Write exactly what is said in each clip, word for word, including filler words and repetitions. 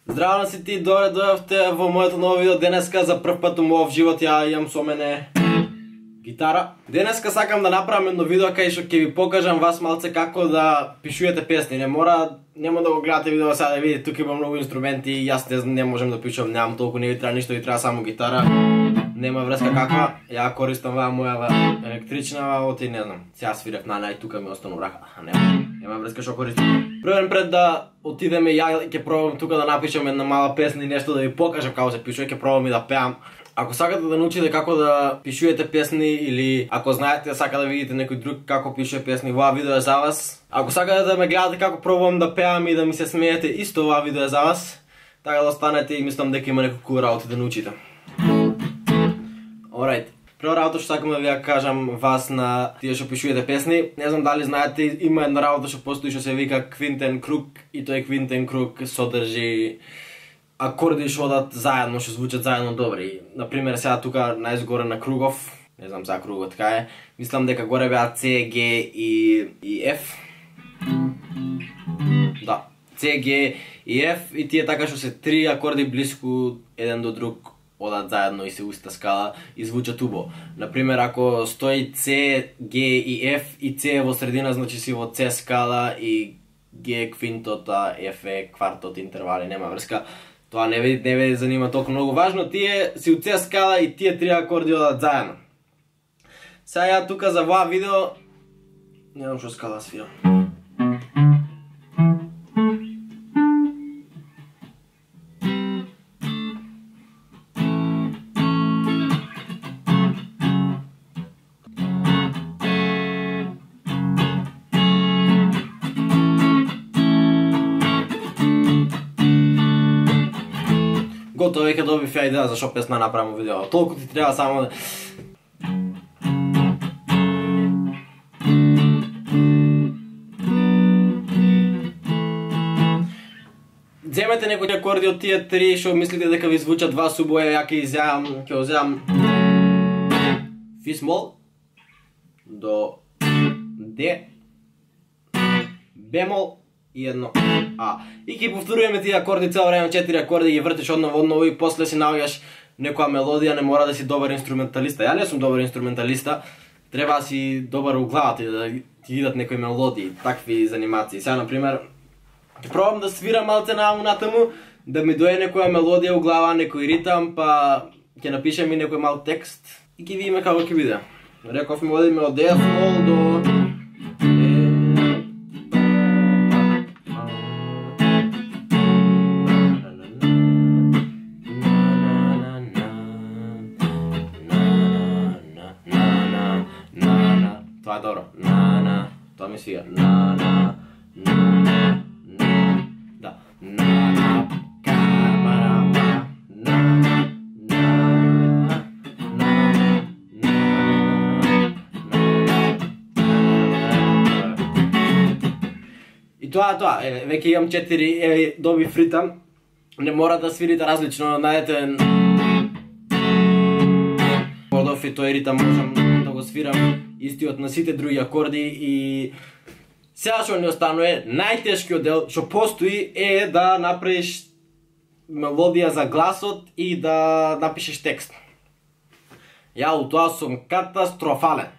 Здраво на си ти, добре дојавте во моето ново видео. Денеска за прв пат во мојот живот ја имам со мене гитара. Денеска сакам да направам едно видео кај што ќе ви покажам вас малце како да пишувате песни. Не мора, нема да го гледате видео сега да видите, тука има многу инструменти и јас не, не можам да пишувам, немам толку, не ви треба ништо, ви треба само гитара. Нема врска каква, ја користам ваа мојава електрична, оти не знам. Сега свирев на нај, тука ми остану рака, нема. Нема врска што користам. Првен пред да отидеме, ја ќе пробам тука да напишам една мала песна и нешто да ви покажам како се пишува, ќе пробам и да пеам. Ако сакате да научите како да пишувате песни или ако знаете сака да видите некој друг како пишува песни, ова видео е за вас. Ако сакате да ме гледате како пробувам да пеам и да ми се смеете, исто ова видео е за вас. Така да останете и мислам дека има некој кул работи да научите. Alright. Прва работа што сакам да ви ја кажам вас на тие што пишувате песни. Не знам дали знаете, има една работа што постои што се вика квинтен круг и тој квинтен круг содржи акорди што одат заедно, што звучат заедно добри. Например, сега тука најзгоре на кругов, не знам за кругот така е, мислам дека горе беа С, Г и, и Ф. Да, С, Г и Ф и тие така што се три акорди блиску еден до друг одат заедно и се уста скала и звучат убаво. Например, ако стои С, Г и Ф и С во средина, значи си во С скала и Г квинтот, а Ф е квартот, интервали, нема врска. Тоа не ви не ви занима толку многу важно, тие си у С скала и тие три акорди одат заедно. Сега ја тука за ова видео не знам што скала свирам. Готово, веќе добив ја идеја за шо песна направам видео. Толку ти треба само да... Земете некои акорди од тие три што мислите дека ви звучат вас убаво, ја ќе изјавам, ќе уземам фи смол до Д, бемол и едно А. И ќе повторуваме тие акорди цело време, четири акорди ги вртиш одново одново и после си наоѓаш некоја мелодија, не мора да си добар инструменталиста. Ја не сум добар инструменталиста, треба да си добар у главата да ти идат некои мелодии, такви занимации. Сега например, ќе пробам да свирам малце нааму натаму, да ми дојде некоја мелодија у глава, некој ритам, па ќе напишем и некој мал текст и ќе видиме како ќе биде. Рековме одиме од Д смол до тоа е добро. На на, тоа ми свија. На на, на на, на. Да. На на, камара, на на, на на, и тоа тоа, е, веќе имам четири, е, добив ритам. Не мора да свирите различно, најдете подов и тој ритам можам да го свирам истиот на сите други акорди и сега што не останува, најтешкиот дел што постои е да направиш мелодија за гласот и да напишеш текст. Ја у тоа сум катастрофален.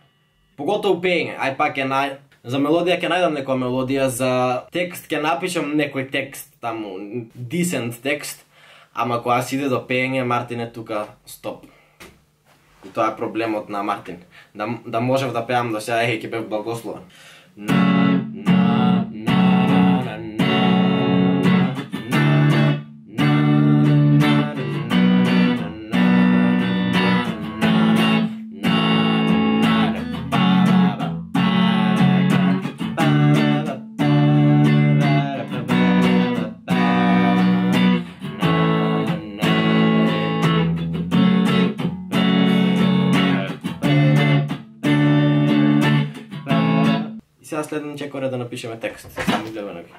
Поготово пеење, ај пак е нај... За мелодија ќе најдам некоја мелодија, за текст ќе напишам некој текст, таму, дисент текст, ама кога си иде до пеење, Мартин е тука, стоп. И тоа е проблемот на Мартин. Да, да можев да пеам до сега, еј, ќе бев благословен. На, на, на, на, на, и сега следен чекоре да напишеме текст. Само гледаме ги.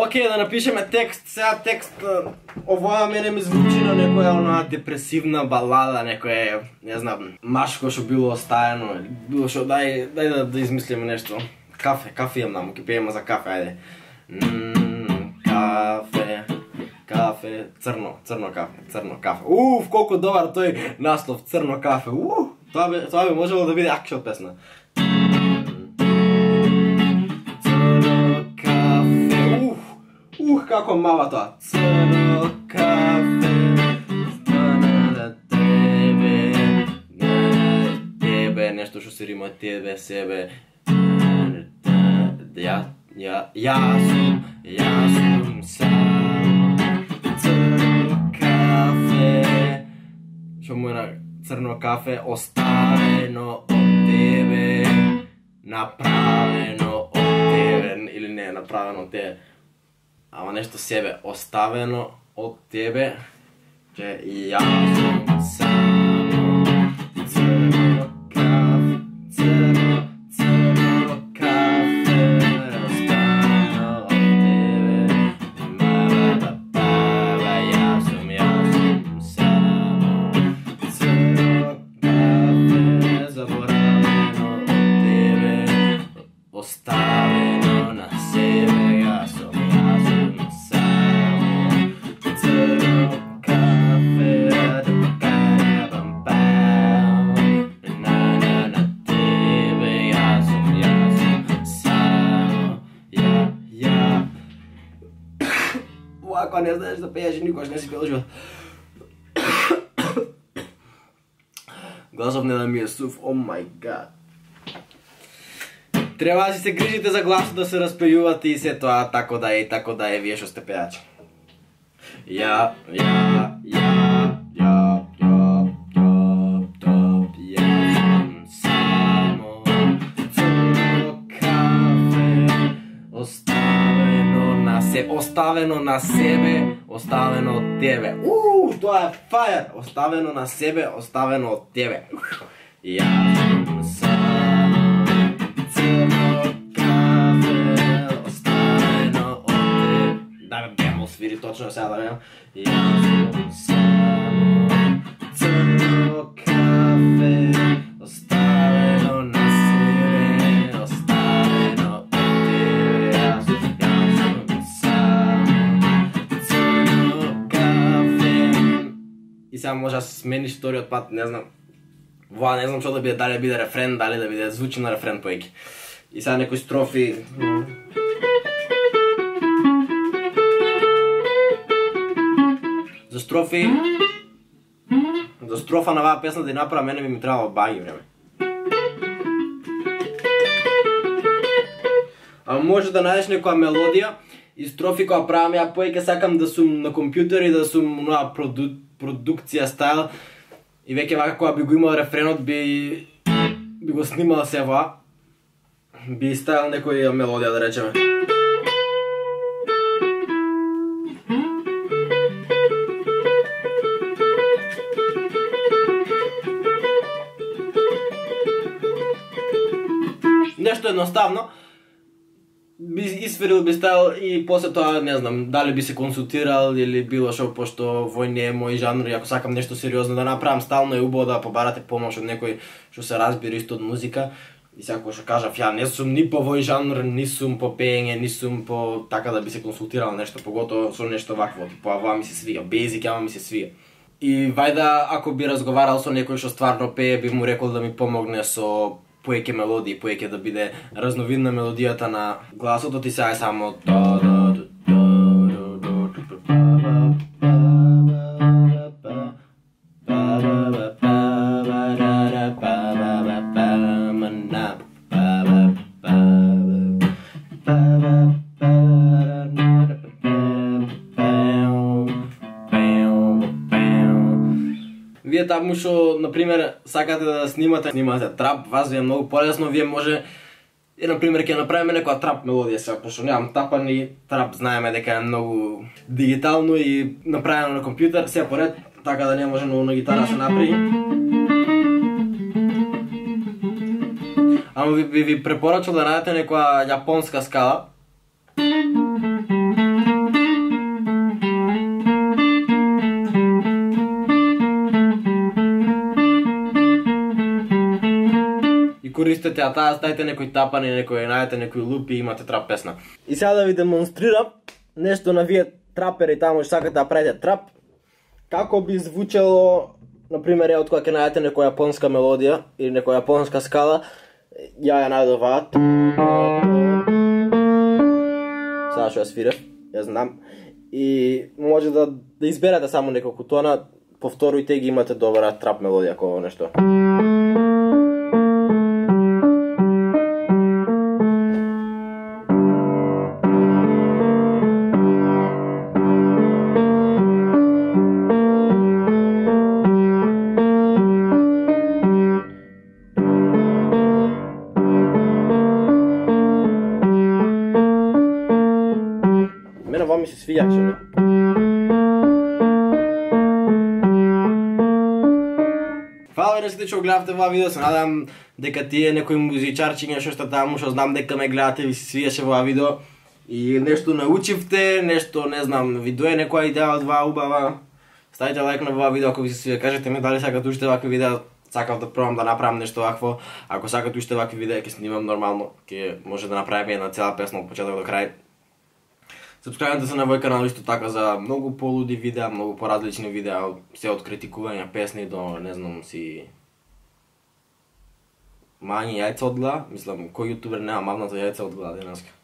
окей, да напишеме текст, сега текст, овоја мене ми звучи на некоја онаа депресивна балада, некоја, не знам, машко што било остаено, било што, дај, дај да, да измислиме нешто. Кафе, кафе имам наму, ке пееме за кафе, ајде. Ммм, кафе, кафе, црно, црно кафе, црно кафе. Уф, колку добар тој наслов, црно кафе, уф, тоа би, тоа би можело да биде акшн песна. Ух, како мава тоа. Црно кафе, стана на тебе, на тебе, нешто што се рима тебе, себе. Ја, ја, јас сум, јас сум само. Црно кафе, што му е на црно кафе, оставено од тебе, направено од тебе, или не, направено од тебе. Ама нешто себе, оставено од тебе, че јас сум само. Црно кафе, црно, црно кафе, оставено од тебе. Ба-ба-ба-ба, јас сум, јас сум само. Црно кафе, заборавено од тебе, оставено на себе, јас сум. Ако не знаеш да пееш, никош не си пел живот. Гласов не да ми е сув, о мај гад. Треба да си се грижите за гласот да се распејувате и се тоа, тако да е, тако да е, вие што сте пејачи. Ја, ја, ја, ја, ја, ја, топ, ја сум само. Црно кафе, оставено на себе, оставено на себе, оставено од тебе. Уу, тоа е фајер! Оставено на себе, оставено од тебе. Јас сум само. Црно кафе, оставено од тебе. Да ме бемо свири точно сега да бем. Јас сум само. Црно кафе, оставено на себе, оставено од тебе. Јас сум само. Црно кафе. И сега може да се смениш вториот пат, не знам. Воа не знам што да биде, дали биде рефрен, дали да биде звучи на рефрен поеки. И сега некои строфи. За строфи, за строфа на оваа песна да ја направа, мене би ми требало баги време. А може да најдеш некоја мелодија и строфи која правам ја поеќе, сакам да сум на компјутер и да сум на проду, продукција стайл. И веќе вака кога би го имал рефренот, би, би го снимал сева, би ставил некоја мелодија да речеме. Нешто едноставно, би исферил, би ставил и после тоа не знам дали би се консултирал или било шо, пошто вој не е мој жанр и ако сакам нешто сериозно да направам, стално е убаво да побарате помош од некој што се разбира исто од музика. И сега кога што кажав, ја не сум ни по вој жанр, ни сум по пеење, ни сум по така да би се консултирал нешто, поготово со нешто вакво, типа ова ми се свија, бейзик ама ми се свија. И вајда ако би разговарал со некој што стварно пее, би му рекол да ми помогне со поеќе мелодии, поеќе да биде разновидна мелодијата на гласот, ти сега е само Вие таму што, например, сакате да снимате, снимате трап, вас ви е многу полесно, вие може и, например, ќе направиме некоја трап мелодија сега, пошто немам тапан и трап знаеме дека е многу дигитално и направено на компјутер, сега поред, така да не може многу на гитара се направи. Ама ви, ви, ви препорачал да најдете некоја јапонска скала. користите, а таа ставите некои тапани, некои најдете некои лупи и имате трап песна. И сега да ви демонстрирам нешто на вие трапери таму што сакате да правите трап. Како би звучело, например, од кога ќе најдете некоја јапонска мелодија или некоја јапонска скала, ја ја најдов ваат. Сега што ја свирев, ја знам. И може да, да изберете само неколку тона, повторујте ги, имате добра трап мелодија како нешто. Мене ова ми се свијаче. Фала ви што гледавте ова видео, се надам дека тие некои музичарчиња што сте таму, што знам дека ме гледате, ви се свиеше ова видео и нешто научивте, нешто, не знам, ви дое некоја идеја од ова убава. Ставите лайк на ова видео ако ви се свија, кажете ми дали сакате уште вакви видеа, сакав да пробам да направам нешто вакво. Ако сакате уште вакви видеа, ќе снимам нормално, ќе може да направиме една цела песна од почеток до крај. Сабскрајбнете се на мој канал исто така за многу полуди видеа, многу поразлични видеа, се од критикување песни до, не знам, си мањи јајца од глава. Мислам, кој јутубер нема мавната јајца од глава денеска.